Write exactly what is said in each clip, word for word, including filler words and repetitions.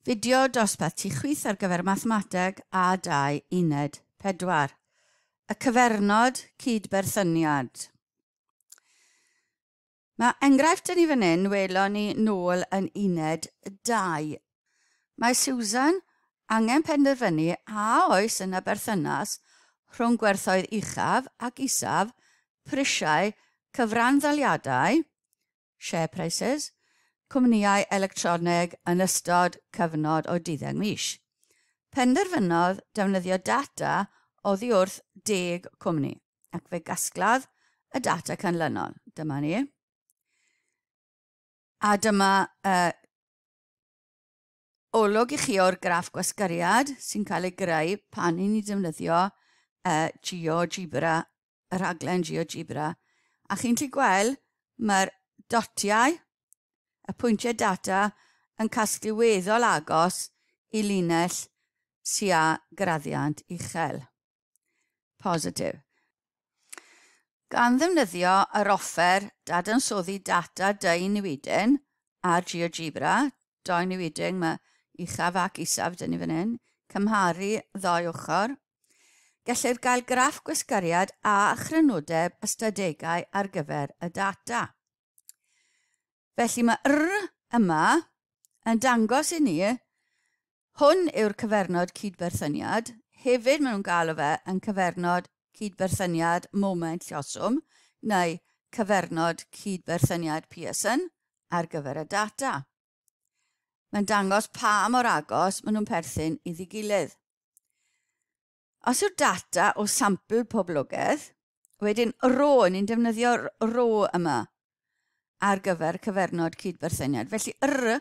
Fideo dosbarth ti chwith ar gyfer mathemateg A dau uned pedwar. Y cyfernod cydberthyniad. Mae enghraifft yn ni fan hyn welon ni nôl yn uned dau. Mae Susan angen penderfynu a oes yna berthynas rhwng gwerthoedd uchaf ac isaf prisiau cyfranddaliadau, share prices, cwmnïau electroneg yn ystod cyfnod o deuddeg mis. Penderfynodd defnyddio data oddi wrth deg cwmni, ac fe gasglodd y data canlynol. Dyma ni. A dyma uh, olwg i chi o'r graff gwasgariad sy'n cael ei greu pan i ni defnyddio uh, GeoGebra, y rhaglen GeoGebra. A chi'n gallu gweld mae'r dotiau, y pwyntiau data yn casglu weddol agos i linell sy â graddiant uchel. Positif. Gan ddefnyddio yr offer dadansoddi data deunewidyn ar GeoGebra, dou newidyn, mae uchaf ac isaf dyn ni fan hyn, cymharu ddou ochr, gellir gael graff gwasgariad a chrynodeb ystadegau ar gyfer y data. Felly mae R yma yn dangos i ni, hwn yw'r cyfernod cydberthyniad, hefyd maen nhw'n galw fe yn cyfernod cydberthyniad moment lloswm neu cyfernod cydberthyniad Pearson ar gyfer y data. Mae'n dangos pa mor agos maen nhw'n perthyn iddi gilydd. Os yw'r data o sampl poblogaeth, wedyn rho, ni'n defnyddio'r rho yma ar gyfer cyfernod cydberthyniad. Felly R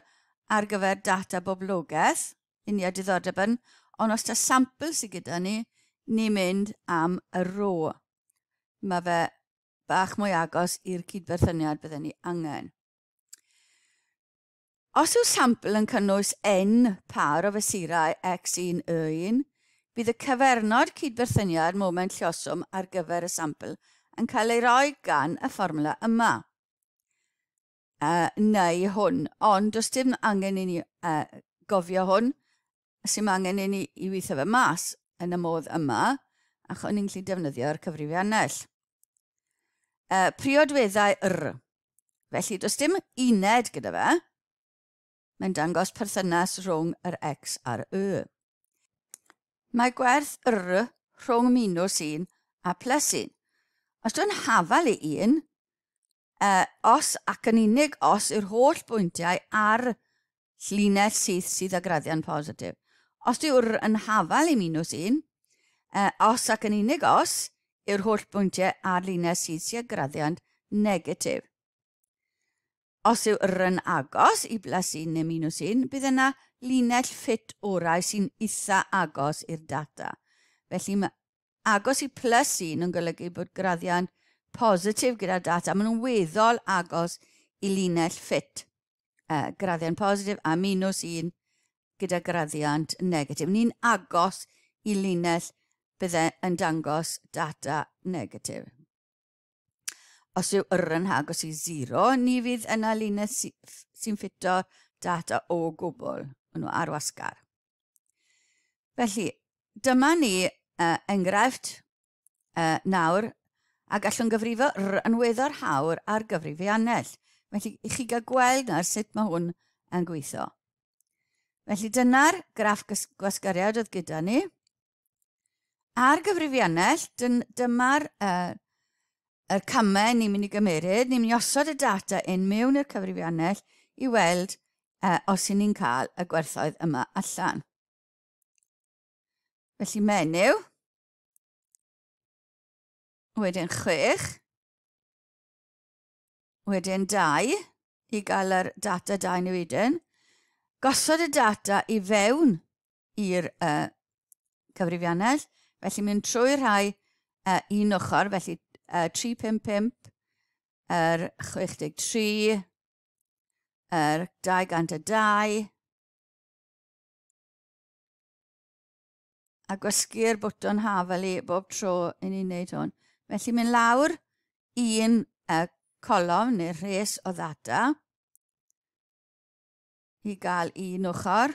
ar gyfer data boblogaeth, i ni â diddordeb yn, ond os ta sampl sydd gyda ni, ni'n mynd am y rho. Mae fe bach mwy agos i'r cydberthyniad bydden ni angen. Os yw sampl yn cynnwys n par o fesurau x un y un, bydd y cyfernod cydberthyniad moment lloswm ar gyfer y sampl yn cael ei roi gan y fformwla yma. Uh, neu hwn, ond does dim angen i ni uh, gofio hwn, sy'n angen i ni i weithio fe mas yn y modd yma, achos ni'n gallu defnyddio'r cyfrifiannell. Uh, priodweddau R. Felly, does dim uned gyda fe. Mae'n dangos perthynas rhwng yr X a'r Y. Mae gwerth R rhwng minus un a plus un. Os dwi'n hafal i un, uh, os ac yn unig os yw'r holl bwyntiau ar llinell syth sydd â graddiant positif. Os yw'r R yn hafal i minus un, uh, os ac yn unig os yw'r holl bwyntiau ar linell syth sydd â graddiant negatif. Os yw R yn agos i plus un neu minus un, bydd yna linell ffit orau sy'n eitha agos i'r data. Felly mae agos i plus un yn golygu bod graddiant positif gyda'r data. Maen nhw'n weddol agos i linell ffit. Uh, graddiant positif a minus un gyda graddiant negatif. Ni'n agos i linell bydde yn dangos data negatif. Os yw R yn agos i sero, ni fydd yna linell sy'n ffito data o gwbl. Maen nhw ar wasgar. Felly, dyma ni uh, enghraifft uh, nawr, a gallwn gyfrifo R yn weddol hawdd ar gyfrifiannell. Felly, i chi gael gweld nawr sut mae hwn yn gweithio. Felly, dyna'r graff gwasgariad oedd gyda ni. Ar gyfrifiannell, dyma'r uh, yr camau ni'n mynd i gymeryd. Ni'n mynd i osod y data in mewn i'r cyfrifiannell i weld uh, os y'n ni'n cael y gwerthoedd yma allan. Felly menyw, wedyn chwech, wedyn dau, i gael yr data dau newidyn. Gosod y data i fewn i'r uh, cyfrifiannell, felly mynd trwy rhai uh, un ochr, felly uh, tri pump pump, yr chwech deg tri, yr dau gant a dau, a gwasgu'r bwtwn hafal i bob tro i ni'n wneud hwn. Felly mynd lawr un uh, colofn neu rhes o ddata i gael un ochr.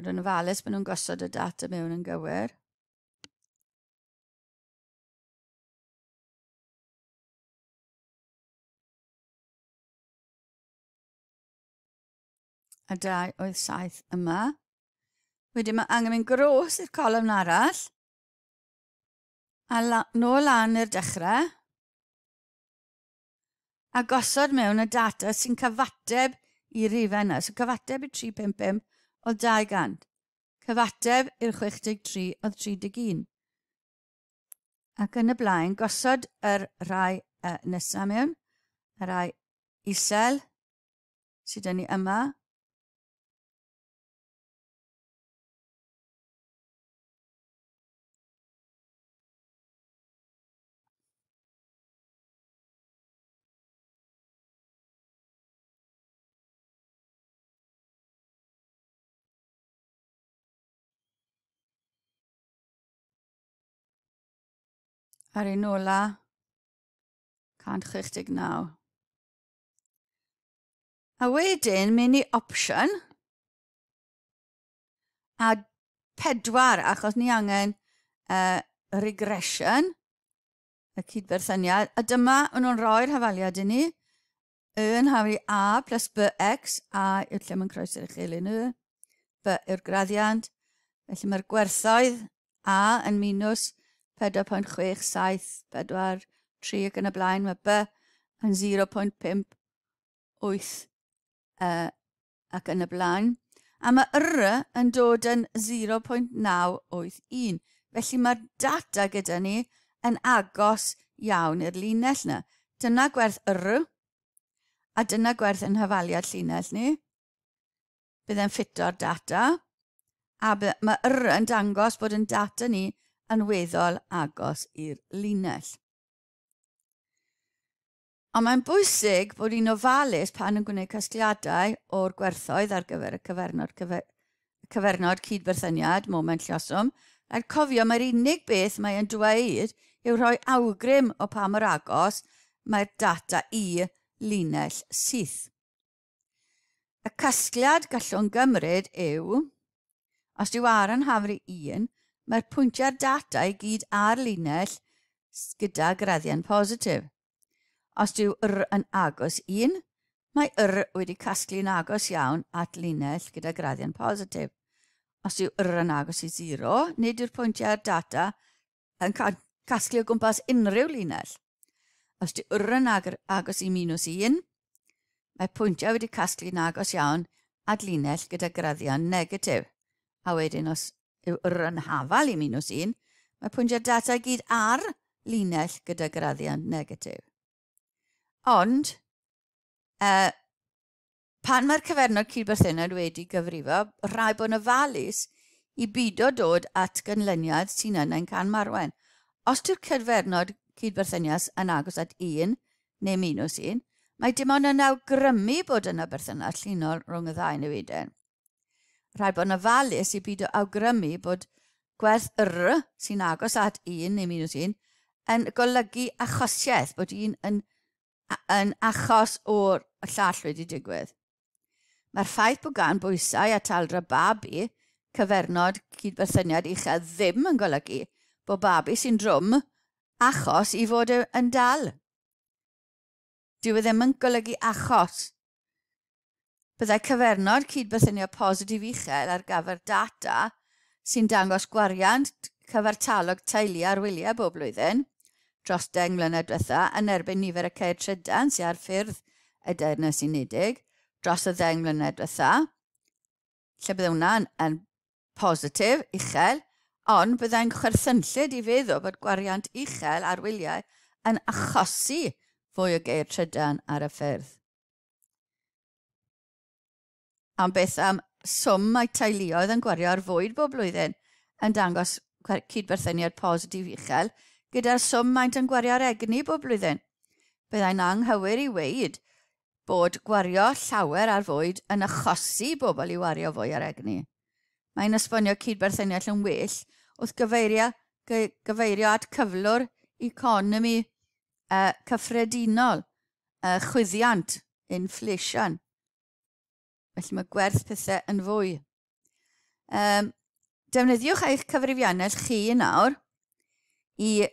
Bod yn ofalus bod nhw'n gosod y data mewn yn gywir. A dau wyth saith yma. Wedyn mae angen mynd gros i'r colofn arall. A la, nôl lan i'r dechrau. A gosod mewn y data sy'n cyfateb i'r rhifau yna. So cyfateb i tri pump pump oedd dau gant. Cyfateb i'r chwech deg tri oedd tri deg un. Ac yn y blaen, gosod yr rhai uh, nesaf mewn, y rhai isel sydd 'da ni yma. A'r un ola, cant chwech deg naw. A wedyn, mynd i option a pedwar, achos ni angen uh, regression, y cydberthyniad. A dyma, maen nhw'n rhoi'r hafaliad i ni. Y yn haflu A plus B X, A yw'r lle mae'n croesi'r uchelyn Y, B yw'r graddiant. Felly mae'r gwerthoedd A yn minus pedwar pwynt chwech saith pedwar tri ac yn y blaen. Mae B yn zero pwynt pump wyth uh, ac yn y blaen. A mae R yn dod yn zero pwynt naw wyth un. Felly mae'r data gyda ni yn agos iawn i'r linell yna. Dyna gwerth R a dyna gwerth yn hafaliad llinell ni. Bydd e'n ffito'r data. A mae R yn dangos bod yn data ni yn weddol agos i'r linell. Ond mae'n bwysig bod ni'n ofalus pan yn gwneud casgliadau o'r gwerthoedd ar gyfer y cyfernod, cyfer, cyfernod cydberthyniad, moment lluoswm. Rhaid cofio mae'r unig beth mae'n dweud yw rhoi awgrym o pa mor agos mae'r data i linell syth. Y casgliad gallwn gymryd yw, os yw R yn hafru un, mae'r pwyntiau'r data i gyd ar linell gyda graddiant positif. Os yw R yn agos un, mae R wedi casglu'n agos iawn at linell gyda graddiant positif. Os yw R yn agos i zero, nid yw'r pwyntiau'r data yn casglu o gwmpas unrhyw linell. Os yw R yn agos i minus un, mae pwyntiau wedi casglu'n agos iawn at linell gyda graddiant negatif. A wedyn os yw R yn hafal i minus un, mae pwyntiau'r data i gyd ar linell gyda graddiant negatif. Ond, uh, pan mae'r cyfernod cydberthyniad wedi gyfrifo, rhaid bod yn ofalus i bido dod at ganlyniad sy'n yn ein camarwain. Os yw'r cyfernod cydberthyniad yn agos at un neu minus un, mae dim ond yn awgrymu bod yna berthynas llinol rhwng y ddau newidyn. Rhaid bod yn ofalus i bido awgrymu bod gwerth R sy'n agos at un neu minus un yn golygu achosiaeth, bod un yn, yn achos o'r llall wedi digwydd. Mae'r ffaith bod gan bwysau a taldra babi cyfernod cydberthyniad uchel ddim yn golygu bod babi sy'n drwm achos i fod yn dal. Dyw e ddim yn golygu achos. Byddai cyfernod cydberthyniad positif uchel ar gyfer data sy'n dangos gwariant cyfartalog teulu ar wyliau bob blwyddyn dros deng mlynedd diwetha yn erbyn nifer y ceir trydan sydd ar ffyrdd y Deyrnas Unedig dros y ddeng mlynedd diwetha, lle bydde hwnna'n yn positif, uchel, ond byddai'n chwerthynllyd i feddwl bod gwariant uchel ar wyliau yn achosi fwy o geir trydan ar y ffyrdd. Ond beth am swm mae teuluoedd yn gwario ar fwyd bob blwyddyn yn dangos cydberthyniad positif uchel gyda'r swm maent yn gwario ar egni bob blwyddyn. Byddai'n anghywir i weud bod gwario llawer ar fwyd yn achosi bobl i wario fwy ar egni. Mae'n esbonio cydberthyniad yn well wrth gyfeirio, gyfeirio at cyflwr economi uh, cyffredinol, uh, chwyddiant, inflation. Felly mae gwerth pethau yn fwy. Um, defnyddiwch eich cyfrifiannell chi nawr i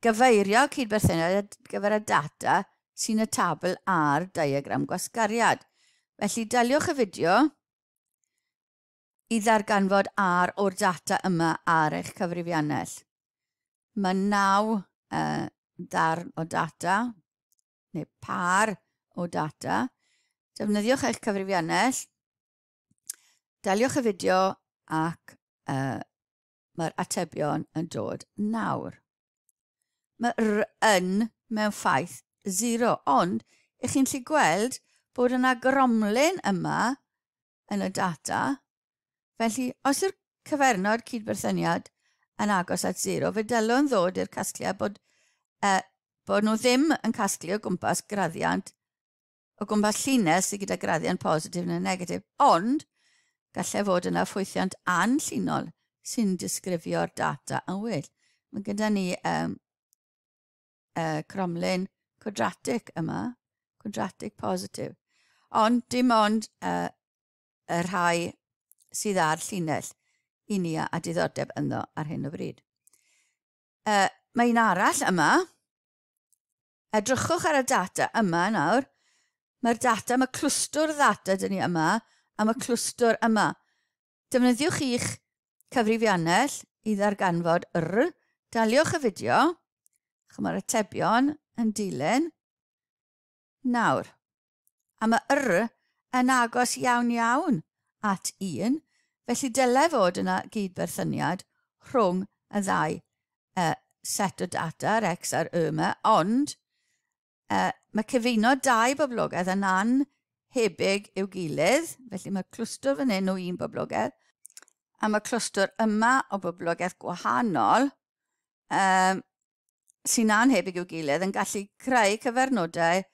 gyfeirio cydberthyniad ar gyfer y data sy'n y tabl a'r diagram gwasgariad. Felly daliwch y fideo i ddarganfod R o'r data yma ar eich cyfrifiannell. Mae naw uh, darn o data, neu par o data. Defnyddiwch eich cyfrifiannell, daliwch y fideo ac uh, mae'r atebion yn dod nawr. Mae R yn mewn ffaith zero, ond ych chi'n gallu gweld bod yna gromlin yma yn y data. Felly, os yw'r cyfernod cydberthyniad yn agos at zero, fe dylwn ddod i'r casgliad bod, uh, bod nhw ddim yn casglu o gwmpas graddiant, o gwmpas llinell sydd gyda graddiant positif neu negatif, ond gallai fod yna ffwythiant anllinol sy'n disgrifio'r data yn well. Mae gyda ni um, uh, cromlin cwadratig yma, cwadratig positif, ond dim ond uh, y rhai sydd ar llinell i ni a diddordeb ynddo ar hyn o bryd. Uh, mae un arall yma. Edrychwch ar y data yma nawr. Mae'r data, mae clwstwr ddata dyn ni yma, a mae clwstwr yma. Defnyddiwch eich cyfrifiannell i ddarganfod R. Daliwch y fideo. Mae'r atebion yn dilyn. Nawr, a mae R yn agos iawn iawn at un, felly dylai fod yna gydberthyniad rhwng y ddau uh, set o data, yr X a'r Y yma, ond uh, mae cyfuno dau boblogaeth yn anhebyg i'w gilydd, felly mae clwstwr fan hyn o un boblogaeth, a mae clwstwr yma o boblogaeth gwahanol um, sy'n anhebyg i'w gilydd yn gallu creu cyfernodau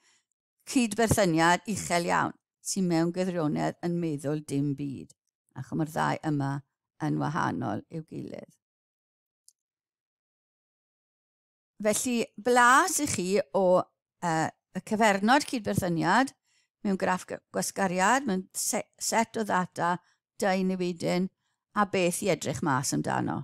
cydberthyniad uchel iawn sy'n mewn gwirionedd yn meddwl dim byd, ac mae'r ddau yma yn wahanol i'w gilydd. Felly, blas i chi o uh, y cyfernod cydberthyniad mewn graff gwasgariad, mewn set o ddata, dau newidyn, a beth i edrych mas amdano.